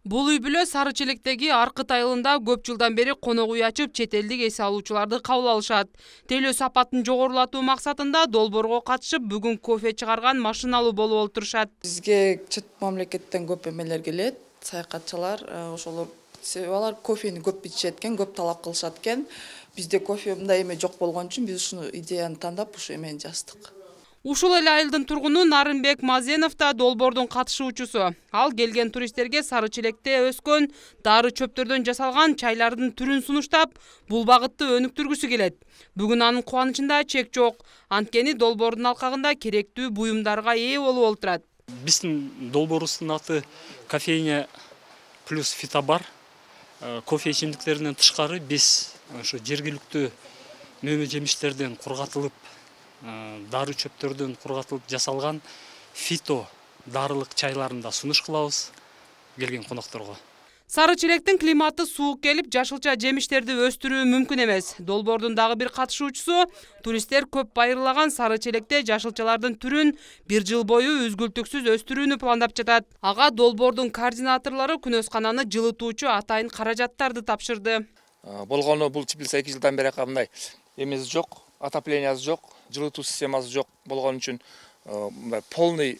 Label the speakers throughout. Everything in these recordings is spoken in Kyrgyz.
Speaker 1: Бул үй бүлө Сары Челектеги Аркыт айылында көп жылдан бери конок үй ачып, чет элдик эс алуучуларды кабыл алышат. Тейлөө сапатын жогорулатуу максатында долбоорго катышып, бүгүн кофе чыгарган машиналуу болуп олтурушат.
Speaker 2: Бизге чет мамлекеттен көп эмелер келет, саякатчылар, ошолор себеби алар кофени көп ичет экен, көп талап кылышат экен. Бизде кофе мындай эме жок болгон үчүн биз ушуну идеяны тандап, ушу эмени жаздык.
Speaker 1: Ушул эле айылдын тургуну Нарынбек Мазенов да долбоордун катышуучусу. Ал келген туристтерге Сары Челекте өскөн дары чөптөрдөн жасалган чайлардын түрүн сунуштап, бул багытты өнүктүргүсү келет. Бүгүн анын кубанычында чек жок. Анткени долбоордун алкагында керектүү буюмдарга ээ болуп олтурат.
Speaker 3: Биздин долбоорубуздун аты кофейня плюс фитобар. Кофе ичимдиктеринен тышкары биз ошо жергиликтүү мөмө жемиштерден кургатылып, дары чөптөрдөн кургатылып жасалган фито дарылык чайларын да сунуш кылабыз келген конокторго.
Speaker 1: Сары Челектин климаты суук келип, жашылча жемиштерди өстүрүү мүмкүн эмес. Долбоордун дагы бир катышуучусу туристтер көп байырлаган Сары Челекте жашылчалардын түрүн бир жыл бою үзгүлтүксүз өстүрүүнү пландап жатат. Ага долбоордун координаторлору күнөскананы жылытуучу атайын каражаттарды тапшырды.
Speaker 4: Болгону бул теплица 2 жылдан бери мындай эмеси жок, отоплениясы жок, жылытуу системасы жок болгон үчүн мындай полный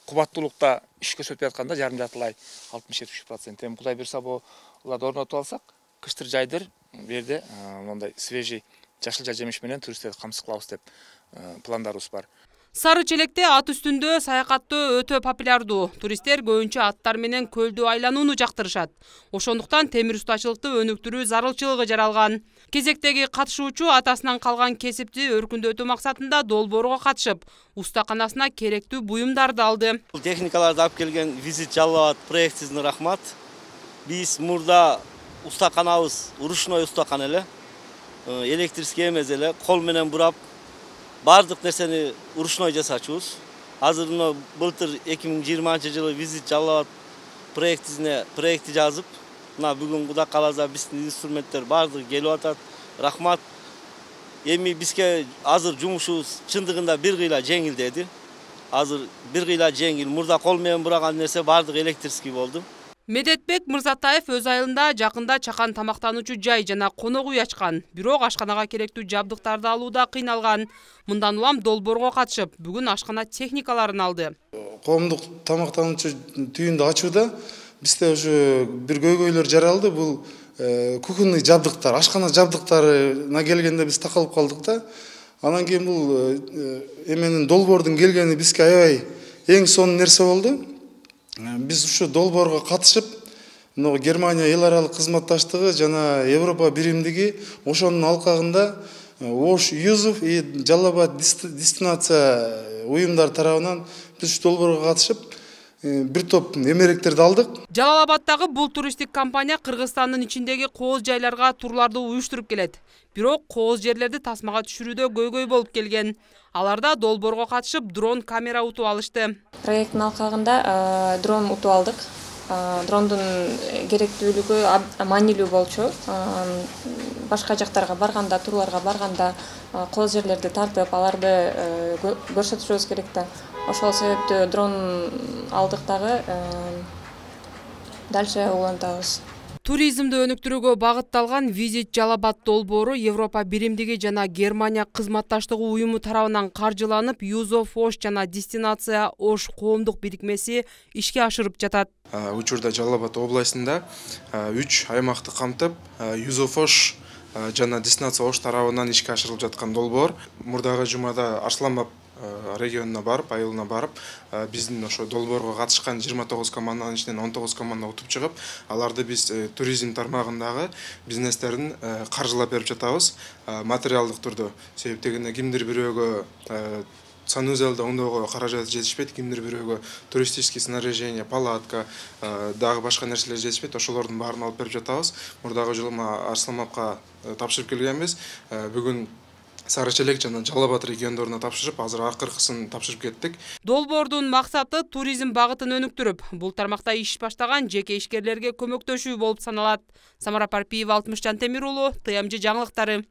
Speaker 4: кубаттуулукта иш көрсөтүп атканда жарым жартылай 60-70%. Эми Кудай буйрса буларды орнотуп алсак, кыштыр жайдыр бу жерде мондай свежий жашылча жемиш менен туристтерди камсыз кылабыз деп пландарыбыз бар.
Speaker 1: Сары Челекте ат үстүндө саякаттоо өтө популярдуу. Туристтер көбүнчө аттар менен көлдү айланууну жактырышат. Ошондуктан темир устачылыкты өнүктүрүү зарылчылыгы жаралган. Кезектеги катышуучу атасынан калган кесипти өркүндөтүү максатында долбоорго катышып, устаканасына керектүү буюмдарды алды.
Speaker 5: Техникаларды алып келген Визит Жалал Абад проектисине рахмат. Биз мурда устаканабыз ручной устакана эле, электрический эмес эле, кол менен бурап бардык нерсени ручной жасачубуз. Азыр былтыр 2020-жылы Визит Жалал Абад проекти жазып, бүгүн Кудай кааласа биздин инструменттер бардыгы келип атат. Рахмат. Эми бизге азыр жумушубуз чындыгында бир кыйла жеңилдеди. Азыр бир кыйла жеңил. Мурда кол менен бураган нерсе бардыгы электрический болду.
Speaker 1: Медетбек Мырзатаев өз айылында жакында чакан тамактануучу жай жана конок үй ачкан. Бирок ашканага керектүү жабдыктарды алууда кыйналган. Мындан улам долбоорго катышып, бүгүн ашкана техникаларын алды.
Speaker 6: Коомдук тамактануучу түйүндү ачууда бизде ушу бир көйгөйлөр жаралды. Бул кухонный жабдыктар, ашкана жабдыктарына келгенде биз такалып калдык да. Анан кийин бул эменин долбоордун келгени бизге аябай эң сонун нерсе болду. Биз ушу долбоорго катышып, Германия эл аралык кызматташтыгы жана Европа биримдиги ошонун алкагында Ош Юзов и Жалал Абад дестинация уюмдар тарабынан биз долбоорго катышып, бир топ эмеректерди алдык.
Speaker 1: Жалал Абадтагы бул туристтик компания Кыргызстандын ичиндеги кооз жайларга турларды уюштуруп келет. Бирок кооз жерлерди тасмага түшүрүүдө көйгөй болуп келген. Аларда долбоорго катышып дрон камера утуп алышты.
Speaker 7: Проекттин алкагында дрон утуп алдык. Дрондун керектүүлүгү маанилүү болчу. Башка жактарга барганда, турларга барганда кооз жерлерди тартып, аларды көрсөтүшүбүз керек да. Ошол себептүү дрон алдык дагы дальше улантабыз.
Speaker 1: Туризмди өнүктүрүүгө багытталган Визит Жалал Абад долбоору Европа биримдиги жана Германия кызматташтыгы уюму тарабынан каржыланып, Юзов Ош жана Дестинация Ош коомдук бирикмеси ишке ашырып жатат.
Speaker 8: Учурда Жалал Абад областында 3 аймакты камтып, Юзов Ош жана Дестинация Ош тарабынан ишке ашырылып жаткан долбоор. Мурдагы жумада Арсланбаб регионуна барып, айылына барып, биздин ошо долбоорго катышкан 29 команданын ичинен 19 команда утуп чыгып, аларды биз туризм тармагындагы бизнестерин каржылап берип жатабыз, материалдык түрдө. Себеп дегенде кимдир бирөөгө санузелди оңдоого каражат жетишпейт, кимдир бирөөгө туристический снаряжение, палатка, дагы башка нерселер жетишпейт, ошолордун баарын алып берип жатабыз. Мурдагы жылы Арсланбабка тапшырып келгенбиз. Бүгүн Сары Челек жана Жалал Абад региондоруна тапшырып, азыр акыркысын тапшырып кеттик.
Speaker 1: Долбоордун максаты туризм багытын өнүктүрүп, бул тармакта иш баштаган жеке ишкерлерге көмөктөшүү болуп саналат. Самара Парпиева, Алтымышжан Темир уулу, ТМЖ жаңылыктары.